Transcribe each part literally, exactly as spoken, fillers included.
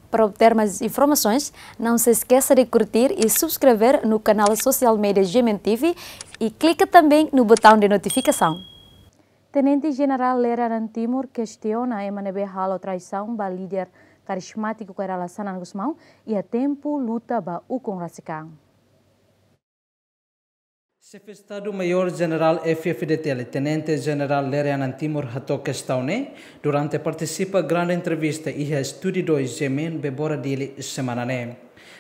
Para obter mais informações, não se esqueça de curtir e subscrever no canal social media G M N T V e clica também no botão de notificação. Tenente Jenerál Lere Anan Timur kestiona ema ne'ebé halo traisaun ba líder karizmátiku Kay Rala Xanana Gusmão iha tempu luta ba ukun rasik an. Xefe Estadu Maiór Jenerál F-FDTL, Tenente Jenerál Lere Anan Timur hato'o kestaun ne'e durante partisipa grande entrevista iha Estúdiu dois G M N Bebora Dili semana ne'e.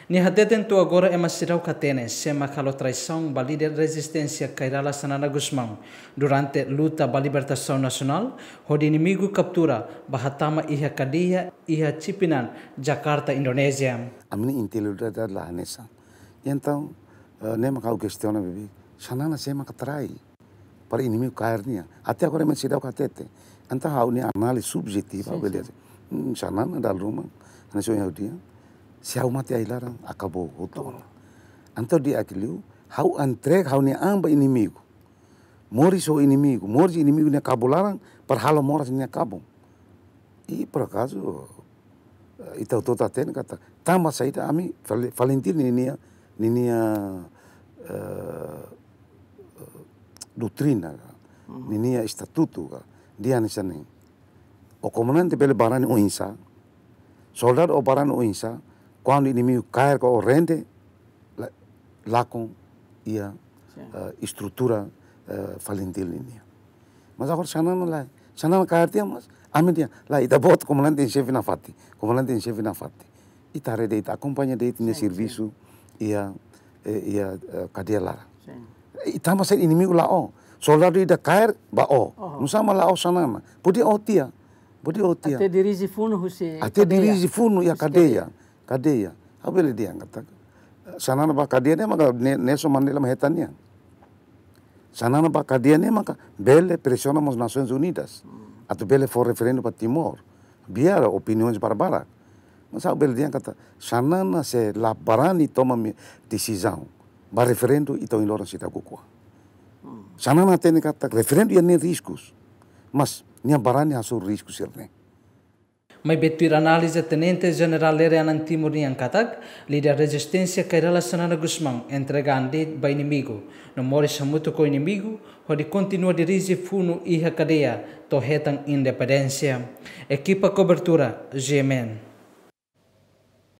Nia hateten to'o agora ema seidauk hatene sé mak halo traisaun ba líder rezisténsia Kay Rala Xanana Gusmão durante luta ba libertasaun nasionál, hodi inimigu kaptura, bá hatama iha kadeia iha Cipinang, Jakarta, Indonézia. Ami-nia integridade la hanesan. Entaun, eh, ne'e mak ha'u kestiona, bibi, Xanana sé mak trai para inimigu kaer nia. Até agora ema seidauk hatete. Entaun ha'u-nia análize subjetiva, sin, bele, sin, hmm, Xanana dala ruma, hanesan ohin ha'u dehan, se ha'u mate ai-laran, akabou hotu. Entaun di'ak liu, ha'u entrega ha'u-nia an ba inimigu. Moris ho inimigu, moris inimigu nia kabun laran, para halo moras nia kabun. I por akazu, eh, ita hotu hatene katak, tanba saida ami, Fal-, FALINTIL ninia, ninia, eh, doutrina, mhm, ninia estatutu, dehan hanesan ne'e. O komandante bele barani oinsá, soldadu o barani oinsá, kuandu inimigu kaer ka o rende, la-, lakon iha, sin, eh, estrutura, eh, FALINTIL nian. Mas agora Xanana lae, Xanana kaer tiha, mas ami dehan lae, ita-boot komandante em xefe nafatin, komandante em xefe nafatin. Ita haree de'it, ita akompaña de'it nia, sin, servisu, sin, iha, eh, iha, eh, kadeia laran. Sin. I tanba saida inimigu la'o? Soldadu ida kaer ba o. Oho. Nusá mak la'o Xanana? Podia o tiha. Podia o tiha. Até dirije funu husi, até kadeia, dirije funu iha, husi kadeia, kadeia. Kadeia. Ha'u bele dehan katak, Xanana bá kadeia ne'e maka Ne-, Nelson Mandela mak hetan nian. Xanana bá kadeia ne'e maka bele presiona mós Nasoins Unidas. Hmm. Atu bele fó referendu ba Timor. Biar opiniaun barbarak. Mas ha'u bele dehan katak, Xanana se la barani toma mi-, desizaun ba referendu, ita ohin loron seidauk ukun an. Hmm. Xanana hatene katak referendu iha nia riskus. Mas nia barani hasoru risku sira-ne'e. Maibé tuir análize, Tenente Jenerál Lere Anan Timur nian katak, líder rezisténsia Kay Rala Xanana Gusmão entrega an de'it ba inimigu, no moris hamutuk ho inimigu, hodi kontinua dirije funu iha kadeia, to'o hetan independénsia. Ekipa kobertura, G M N.